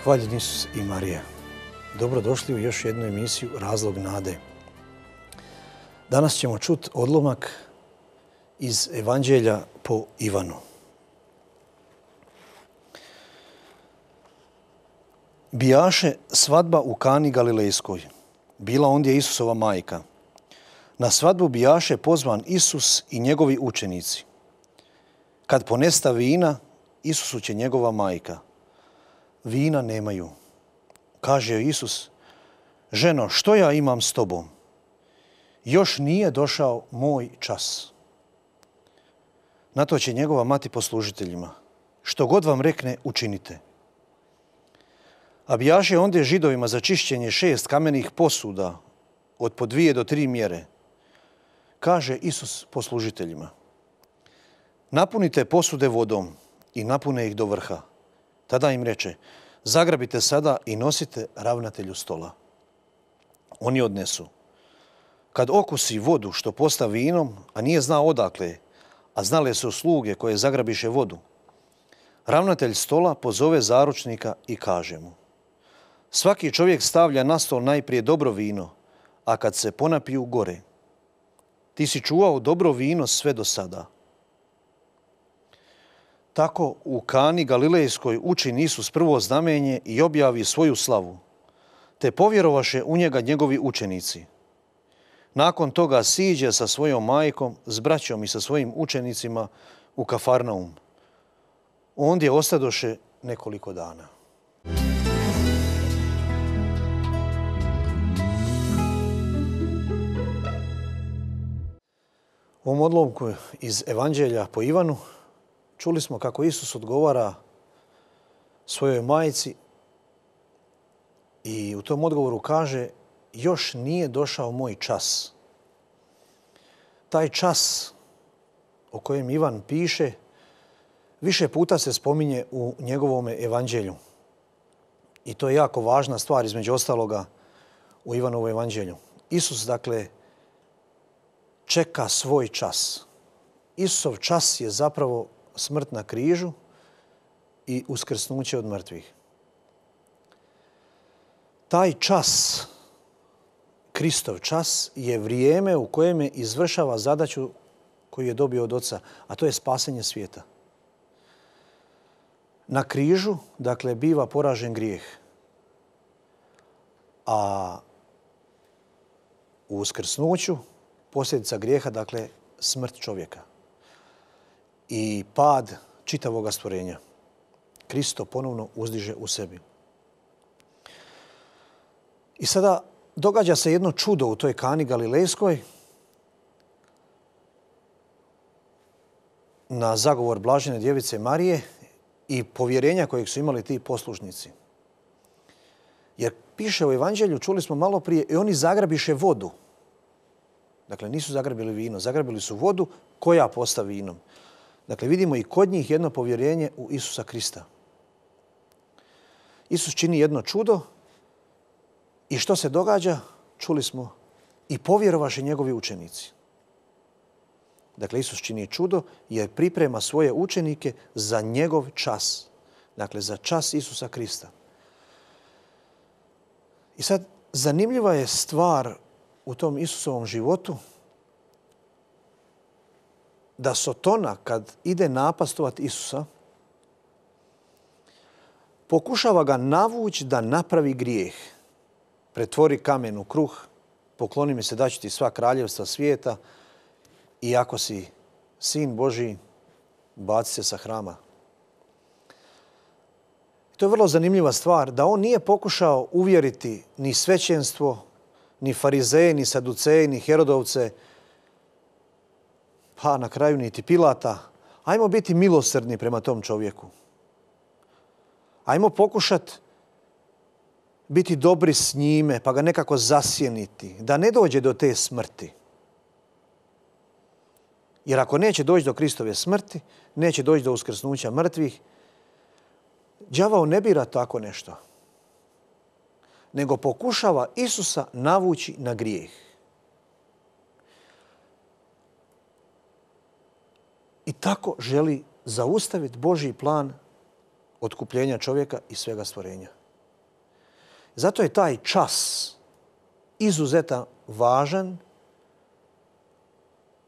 Hvaljen Isus i Marija. Dobrodošli u još jednu emisiju Razlog nade. Danas ćemo čuti odlomak iz Evanđelja po Ivanu. Bijaše svadba u Kani Galilejskoj. Bila ondje Isusova majka. Na svadbu bijaše pozvan Isus i njegovi učenici. Kad ponesta vina, Isusu će njegova majka. Vina nemaju. Kaže joj Isus, ženo, što ja imam s tobom? Još nije došao moj čas. Na to će njegova mati poslužiteljima. Što god vam rekne, učinite. A bijaše ondje Židovima za čišćenje 6 kamenih posuda od po 2 do 3 mjere. Kaže Isus poslužiteljima. Napunite posude vodom i napune ih do vrha. Tada im reče, zagrabite sada i nosite ravnatelju stola. Oni odnesu. Kad okusi vodu što posta vinom, a nije znao odakle, a znale su sluge koje zagrabiše vodu, ravnatelj stola pozove zaručnika i kaže mu, svaki čovjek stavlja na stol najprije dobro vino, a kad se ponapiju gore. Ti si čuvao dobro vino sve do sada. Tako u Kani Galilejskoj učini Isus prvo znamenje i objavi svoju slavu, te povjerovaše u njega njegovi učenici. Nakon toga siđe sa svojom majkom, s braćom i sa svojim učenicima u Kafarnaum. Ondje ostadoše nekoliko dana. U ovom odlomku iz Evanđelja po Ivanu čuli smo kako Isus odgovara svojoj majci i u tom odgovoru kaže još nije došao moj čas. Taj čas o kojem Ivan piše više puta se spominje u njegovom evanđelju. I to je jako važna stvar između ostaloga u Ivanovom evanđelju. Isus, dakle, čeka svoj čas. Isusov čas je zapravo smrt na križu i uskrsnuće od mrtvih. Taj čas, Kristov čas, je vrijeme u kojem izvršava zadaću koju je dobio od Oca, a to je spasenje svijeta. Na križu, dakle, biva poražen grijeh, a u uskrsnuću posljedica grijeha, dakle, smrt čovjeka i pad čitavoga stvorenja. Kristo ponovno uzdiže u sebi. I sada događa se jedno čudo u toj Kani Galilejskoj na zagovor blažene djevice Marije i povjerenja kojeg su imali ti poslušnici. Jer piše u Evanđelju, čuli smo malo prije, i oni zagrabiše vodu. Dakle, nisu zagrabili vino, zagrabili su vodu koja posta vinom. Dakle, vidimo i kod njih jedno povjerenje u Isusa Krista. Isus čini jedno čudo i što se događa? Čuli smo, i povjerovaše njegovi učenici. Dakle, Isus čini čudo jer priprema svoje učenike za njegov čas. Dakle, za čas Isusa Krista. I sad, zanimljiva je stvar u tom Isusovom životu da Sotona, kad ide napastovati Isusa, pokušava ga navući da napravi grijeh. Pretvori kamen u kruh, pokloni mi se, daću ti sva kraljevstva svijeta i ako si sin Božji, baci se sa hrama. To je vrlo zanimljiva stvar, da on nije pokušao uvjeriti ni svećenstvo, ni farizeje, ni saduceje, ni Herodovce, pa na kraju niti Pilata. Ajmo biti milosrdni prema tom čovjeku. Ajmo pokušati biti dobri s njime, pa ga nekako zasjeniti, da ne dođe do te smrti. Jer ako neće doći do Kristove smrti, neće doći do uskrsnuća mrtvih, đavao ne bira tako nešto, nego pokušava Isusa navući na grijeh. I tako želi zaustaviti Božji plan otkupljenja čovjeka i svega stvorenja. Zato je taj čas izuzetno važan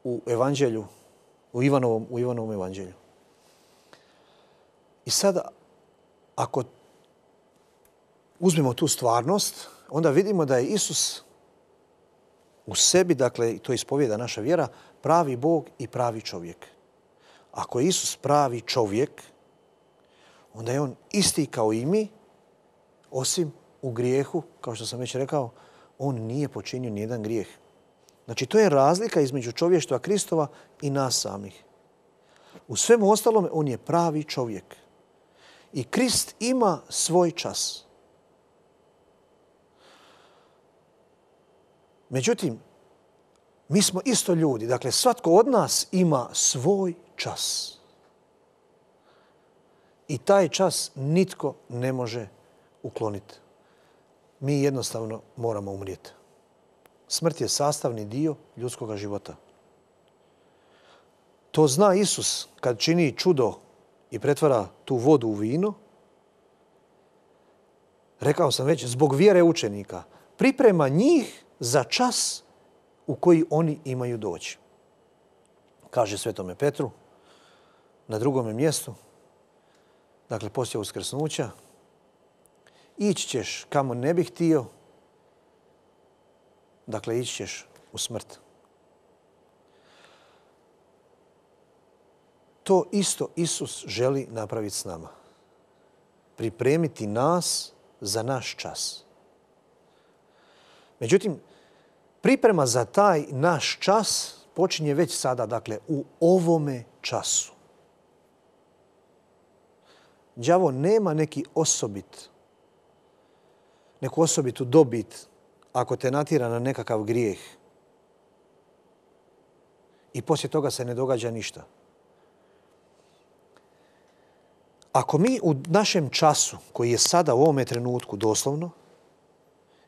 u evanđelju, u Ivanovom evanđelju. I sada, ako uzmemo tu stvarnost, onda vidimo da je Isus u sebi, dakle, to ispovijeda naša vjera, pravi Bog i pravi čovjek. Ako je Isus pravi čovjek, onda je on isti kao i mi, osim u grijehu, kao što sam već rekao, on nije počinio nijedan grijeh. Znači, to je razlika između čovještva Kristova i nas samih. U svemu ostalome, on je pravi čovjek. I Krist ima svoj čas. Međutim, mi smo isto ljudi. Dakle, svatko od nas ima svoj čas. I taj čas nitko ne može ukloniti. Mi jednostavno moramo umrijeti. Smrt je sastavni dio ljudskog života. To zna Isus kad čini čudo i pretvara tu vodu u vino. Rekao sam već, zbog vjere učenika. Priprema njih za čas u koji oni imaju doći. Kaže Svetome Petru na drugome mjestu, dakle poslije uskrsnuća, ići ćeš kamo ne bih htio, dakle ići ćeš u smrt. To isto Isus želi napraviti s nama. Pripremiti nas za naš čas. Međutim, priprema za taj naš čas počinje već sada, dakle, u ovome času. Đavo nema neku osobitu dobit ako te natjera na nekakav grijeh. I poslije toga se ne događa ništa. Ako mi u našem času, koji je sada u ovome trenutku doslovno,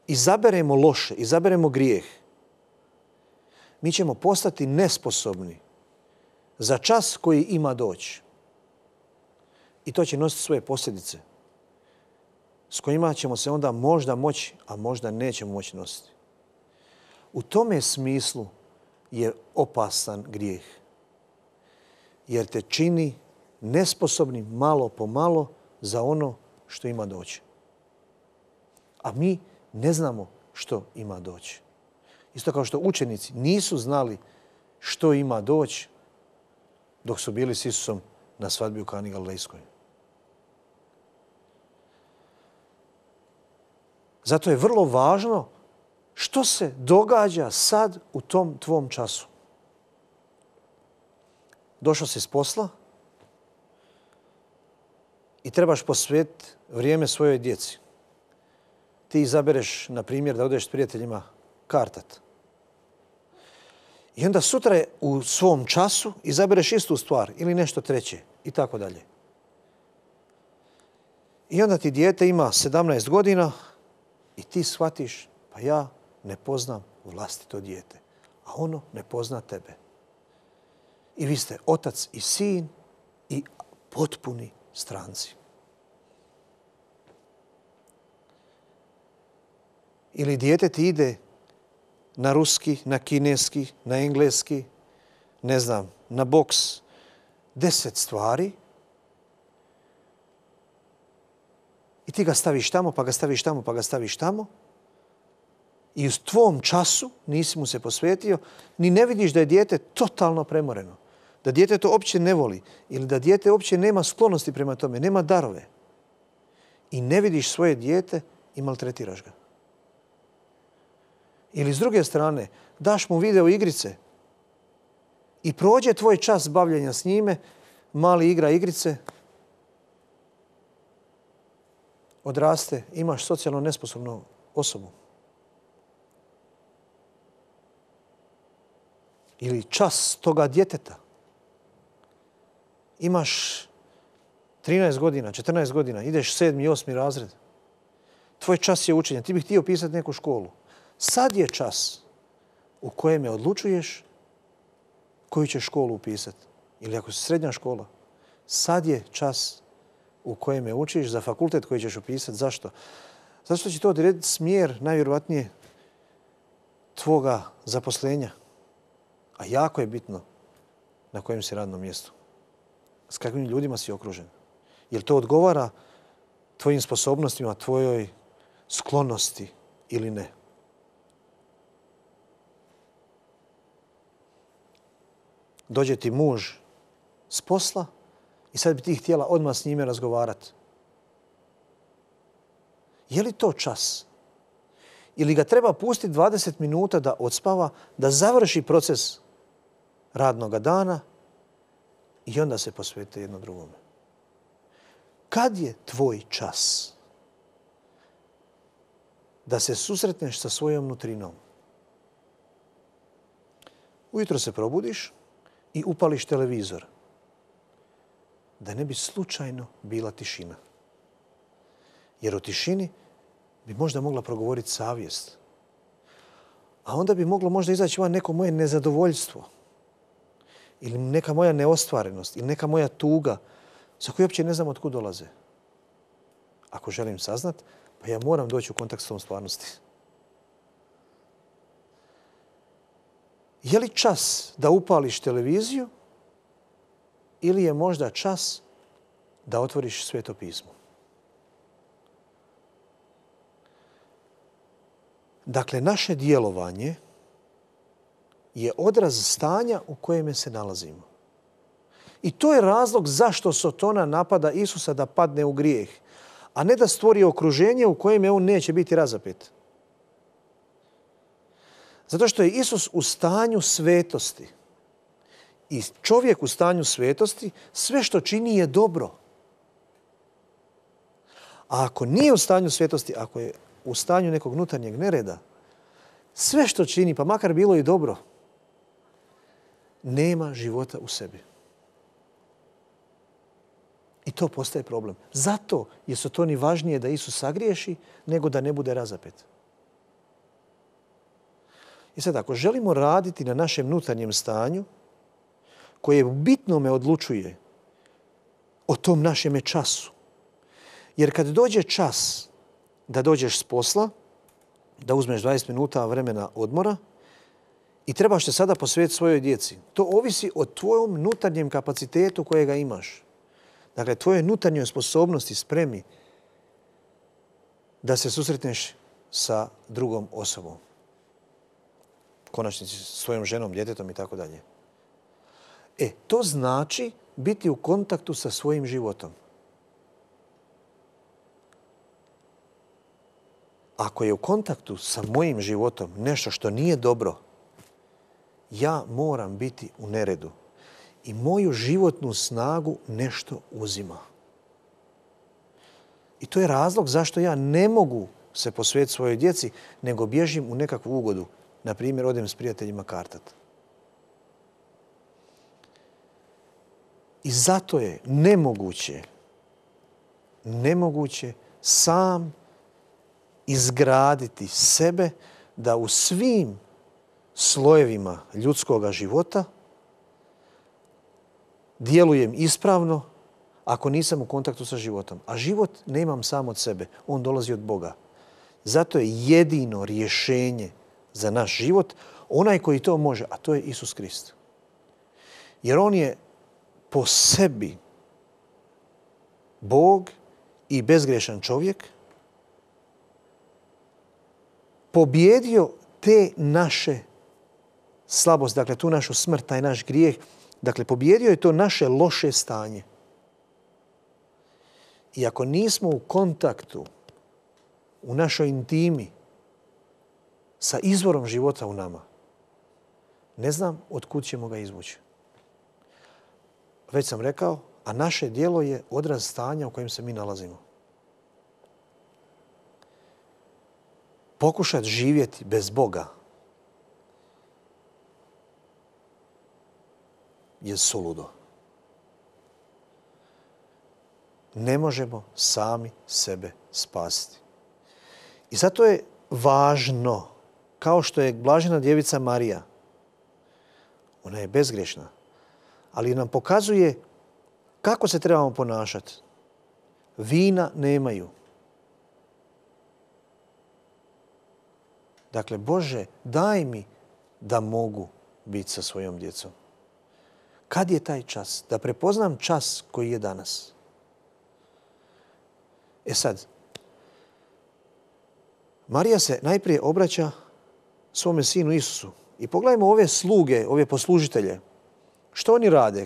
izaberemo loše, izaberemo grijeh, mi ćemo postati nesposobni za čas koji ima doći. I to će nositi svoje posljedice s kojima ćemo se onda možda moći, a možda nećemo moći nositi. U tome smislu je opasan grijeh. Jer te čini nesposobnim malo po malo za ono što ima doći. A mi ne znamo što ima doći. Isto kao što učenici nisu znali što ima doći dok su bili s Isusom na svadbi u Kani Galilejskoj. Zato je vrlo važno što se događa sad u tom tvom času. Došao si s posla i trebaš posvetiti vrijeme svojoj djeci. Ti izabereš, na primjer, da odeš s prijateljima kartat. I onda sutra u svom času izabereš istu stvar ili nešto treće i tako dalje. I onda ti dijete ima 17 godina i ti shvatiš, pa ja ne poznam vlastito dijete, a ono ne pozna tebe. I vi ste otac i sin i potpuni stranci. Ili dijete ti ide na ruski, na kineski, na engleski, ne znam, na boks, 10 stvari i ti ga staviš tamo, pa ga staviš tamo, pa ga staviš tamo i u tvom času nisi mu se posvetio, ni ne vidiš da je dijete totalno premoreno, da dijete to uopće ne voli ili da dijete uopće nema sklonosti prema tome, nema darove. I ne vidiš svoje dijete i maltretiraš ga. Ili s druge strane, daš mu video igrice i prođe tvoj čas bavljenja s njime, mali igra igrice, odraste, imaš socijalno nesposobnu osobu. Ili čas toga djeteta. Imaš 13 godina, 14 godina, ideš 7. i 8. razred. Tvoj čas je učenja, ti bih htio pisati neku školu. Sad je čas u kojem odlučuješ koju ćeš školu upisati. Ili ako si srednja škola, sad je čas u kojem učiš za fakultet koji ćeš upisati. Zašto? Zato što će to odrediti smjer, najvjerojatnije, tvoga zaposlenja. A jako je bitno na kojem si radnom mjestu. S kakvim ljudima si okružen. Jel to odgovara tvojim sposobnostima, tvojoj sklonosti ili ne? Dođe ti muž s posla i sad bi ti htjela odmah s njime razgovarati. Je li to čas? Ili ga treba pustiti 20 minuta da odspava, da završi proces radnog dana i onda se posvete jedno drugome? Kad je tvoj čas da se susretneš sa svojom nutrinom? Ujutro se probudiš i upališ televizor. Da ne bi slučajno bila tišina. Jer u tišini bi možda mogla progovoriti savjest. A onda bi moglo možda izaći van neko moje nezadovoljstvo. Ili neka moja neostvarenost. Ili neka moja tuga za koju uopće ne znam od kud dolaze. Ako želim saznat, pa ja moram doći u kontakt s tom stvarnosti. Je li čas da upališ televiziju ili je možda čas da otvoriš Sveto pismo? Dakle, naše djelovanje je odraz stanja u kojem se nalazimo. I to je razlog zašto Sotona napada Isusa da padne u grijeh, a ne da stvori okruženje u kojem on neće biti razapet. Zato što je Isus u stanju svetosti. I čovjek u stanju svetosti sve što čini je dobro. A ako nije u stanju svetosti, ako je u stanju nekog unutarnjeg nereda, sve što čini, pa makar bilo i dobro, nema života u sebi. I to postaje problem. Zato je Sotoni važnije da Isus sagriješi nego da ne bude razapet. I sad, ako želimo raditi na našem unutarnjem stanju, koje u bitnome odlučuje o tom našem času. Jer kad dođe čas da dođeš s posla, da uzmeš 20 minuta vremena odmora i trebaš se sada posvetiti svojoj djeci. To ovisi o tvojom unutarnjem kapacitetu kojega imaš. Dakle, tvojoj unutarnjoj sposobnosti, spremi da se susretneš sa drugom osobom. Konačnici s svojom ženom, djetetom i tako dalje. To znači biti u kontaktu sa svojim životom. Ako je u kontaktu sa mojim životom nešto što nije dobro, ja moram biti u neredu. I moju životnu snagu nešto uzima. I to je razlog zašto ja ne mogu se posvetiti svojoj djeci, nego bježim u nekakvu ugodu. Na primjer, odem s prijateljima kartat. I zato je nemoguće sam izgraditi sebe da u svim slojevima ljudskoga života djelujem ispravno ako nisam u kontaktu sa životom. A život nemam sam od sebe, on dolazi od Boga. Zato je jedino rješenje za naš život onaj koji to može, a to je Isus Krist. Jer on je po sebi Bog i bezgrešan čovjek, pobjedio te naše slabosti, dakle tu našu smrt, taj naš grijeh, dakle pobjedio je to naše loše stanje. I ako nismo u kontaktu, u našoj intimi, sa izvorom života u nama, ne znam od kud ćemo ga izvući. Već sam rekao, a naše djelo je odraz stanja u kojem se mi nalazimo. Pokušati živjeti bez Boga je suludo. Ne možemo sami sebe spasiti. I zato je važno, kao što je blažena djevica Marija, ona je bezgrešna, ali nam pokazuje kako se trebamo ponašati. Vina nemaju. Dakle, Bože, daj mi da mogu biti sa svojom djecom. Kad je taj čas? Da prepoznam čas koji je danas. E sad, Marija se najprije obraća svome sinu Isusu. I pogledajmo ove sluge, ove poslužitelje. Što oni rade?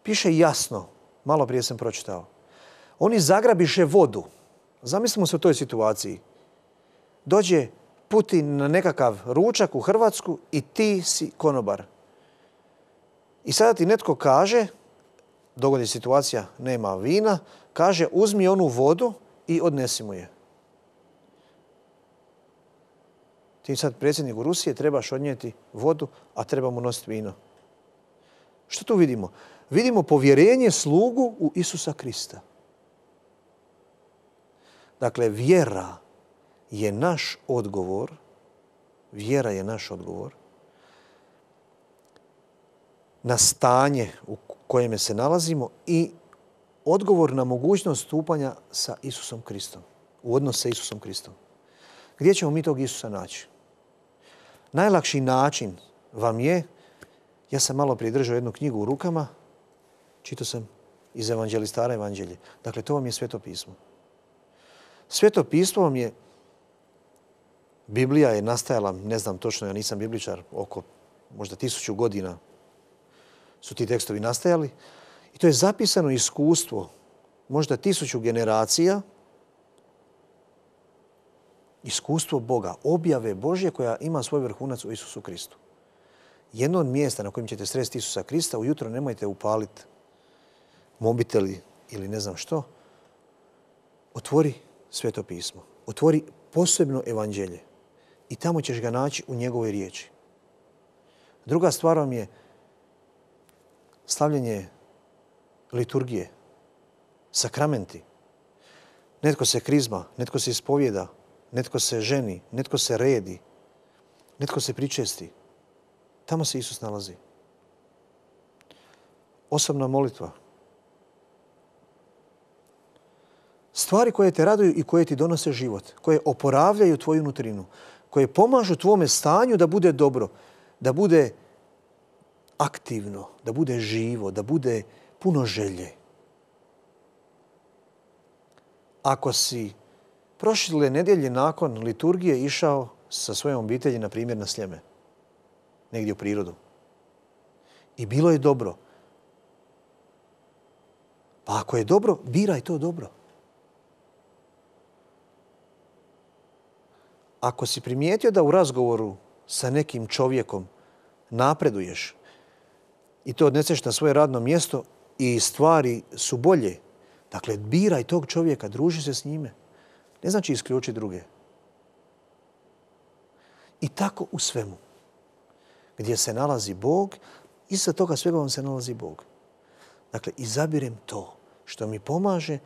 Piše jasno, malo prije sam pročitao. Oni zagrabiše vodu. Zamislimo se u toj situaciji. Dođe Putin na nekakav ručak u Hrvatsku i ti si konobar. I sada ti netko kaže, dogodi situacija, nema vina, kaže uzmi onu vodu i odnesi mu je. Ti sad predsjedniku Rusije trebaš odnijeti vodu, a treba mu nositi vino. Što tu vidimo? Vidimo povjerenje slugu u Isusa Krista. Dakle, vjera je naš odgovor. Vjera je naš odgovor na stanje u kojem se nalazimo i odgovor na mogućnost stupanja sa Isusom Kristom. U odnos sa Isusom Kristom. Gdje ćemo mi tog Isusa naći? Najlakši način vam je, ja sam malo prije držao jednu knjigu u rukama, čitao sam iz Evanđelistara Evanđelje. Dakle, to vam je Sveto pismo. Sveto pismo vam je, Biblija je nastajala, ne znam točno, ja nisam bibličar, oko možda 1000 godina su ti tekstovi nastajali. I to je zapisano iskustvo, možda 1000 generacija, iskustvo Boga, objave Božje koja ima svoj vrhunac u Isusu Kristu. Jedno od mjesta na kojem ćete sresti Isusa Krista, ujutro nemojte upaliti mobiteli ili ne znam što, otvori Sveto pismo, otvori posebno evanđelje i tamo ćeš ga naći u njegovoj riječi. Druga stvar vam je slavljenje liturgije, sakramenti. Netko se krizma, netko se ispovjeda, netko se ženi, netko se redi, netko se pričesti. Tamo se Isus nalazi. Osobna molitva. Stvari koje te raduju i koje ti donose život, koje oporavljaju tvoju nutrinu, koje pomažu tvome stanju da bude dobro, da bude aktivno, da bude živo, da bude puno želje. Ako si prošle nedjelje nakon liturgije išao sa svojom obitelji, na primjer, na Sljeme, negdje u prirodu, i bilo je dobro, pa ako je dobro, biraj to dobro. Ako si primijetio da u razgovoru sa nekim čovjekom napreduješ i to odneseš na svoje radno mjesto i stvari su bolje, dakle, biraj tog čovjeka, druži se s njime. Ne znači isključi druge. I tako u svemu. Gdje se nalazi Bog, iza toga svega vam se nalazi Bog. Dakle, izabirem to što mi pomaže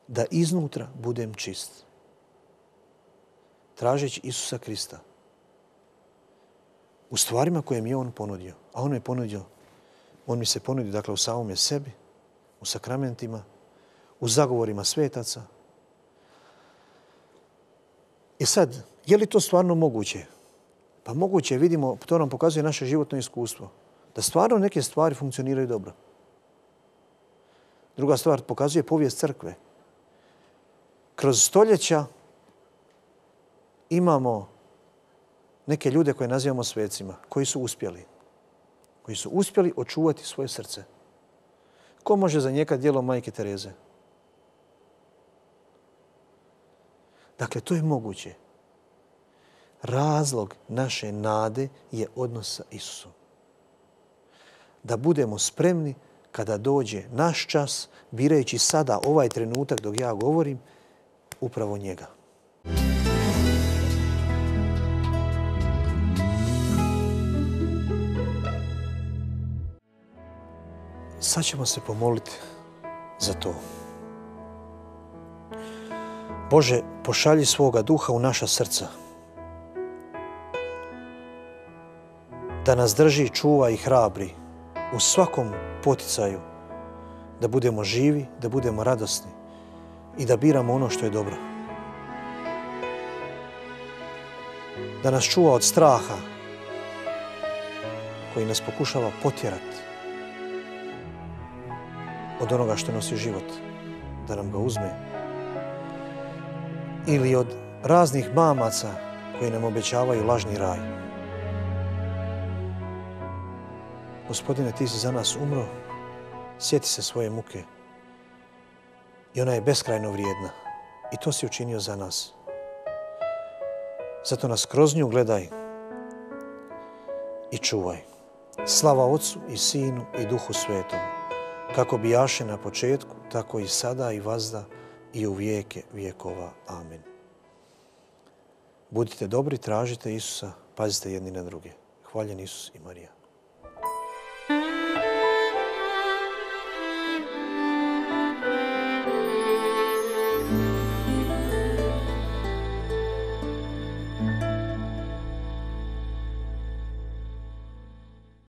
da iznutra budem čist. Tražeći Isusa Krista u stvarima koje mi je On ponudio. A On mi se ponudio, dakle, u samome sebi, u sakramentima, u zagovorima svetaca. I sad, je li to stvarno moguće? Pa moguće, vidimo, to nam pokazuje naše životno iskustvo. Da stvarno neke stvari funkcioniraju dobro. Druga stvar, pokazuje povijest crkve. Kroz stoljeća imamo neke ljude koje nazivamo svecima, koji su uspjeli. Koji su uspjeli očuvati svoje srce. Ko može zanijekati djelo Majke Tereze? Dakle, to je moguće. Razlog naše nade je odnos sa Isusom. Da budemo spremni kada dođe naš čas, birajući sada ovaj trenutak dok ja govorim, upravo njega. Sad ćemo se pomoliti za to. Bože, pošalji svoga duha u naša srca. Da nas drži, čuva i hrabri u svakom poticaju. Da budemo živi, da budemo radosni i da biramo ono što je dobro. da nas čuva od straha koji nas pokušava potjerati od onoga što nosi život, da nam ga uzme, ili od raznih mamaca koji nam obećavaju lažni raj. Gospodine, ti si za nas umro, sjeti se svoje muke i ona je beskrajno vrijedna i to si učinio za nas. Zato nas kroz nju gledaj i čuvaj. Slava Otcu i Sinu i Duhu Svetom, kako bijaše na početku, tako i sada i vazda i u vijeke vjekova. Amen. Budite dobri, tražite Isusa, pazite jedni na druge. Hvaljen Isus i Marija.